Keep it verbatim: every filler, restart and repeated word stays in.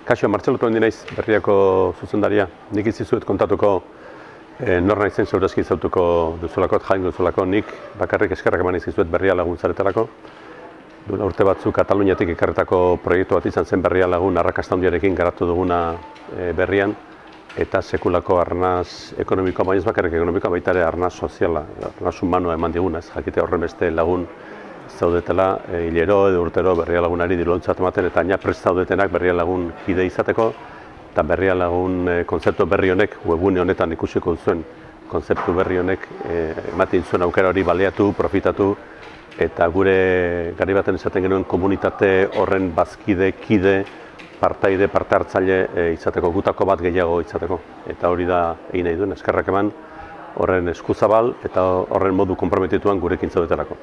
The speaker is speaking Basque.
Kaixo, Martxelo Tomendi naiz, Berriako zuzendaria. Nik izizuet kontatuko e, nor naizen segurazki zautuko duzulako, jaingo duzulako, nik bakarrik eskerrak eman izizuet Berria Lagun zaretarako. Duela urte batzuk Kataluniatik ekarretako proiektu bat izan zen Berria Lagun arrakasta handiarekin garatu duguna e, berrian, eta sekulako arnaz ekonomikoa, baina ez bakarrik ekonomikoa, baita ere arnaz soziala, arnaz humanoa eman diguna, ez jakite horren beste lagun zaudetela, e, hilero edo urtero Berria Lagunari dirulontzat ematen, eta aina prest zaudetenak Berria Lagun kide izateko, eta Berria Lagun e, kontzeptu berri honek, webune honetan ikusiko duzuen kontzeptu berri honek e, ematen zuen aukera hori baliatu, profitatu, eta gure gari baten esaten genuen komunitate horren bazkide, kide, partaide, parte hartzaile e, izateko, gutako bat gehiago izateko. Eta hori da egin nahi duen, eskerrak eman horren eskuzabal eta horren modu konprometituan gurekin zaudetelako.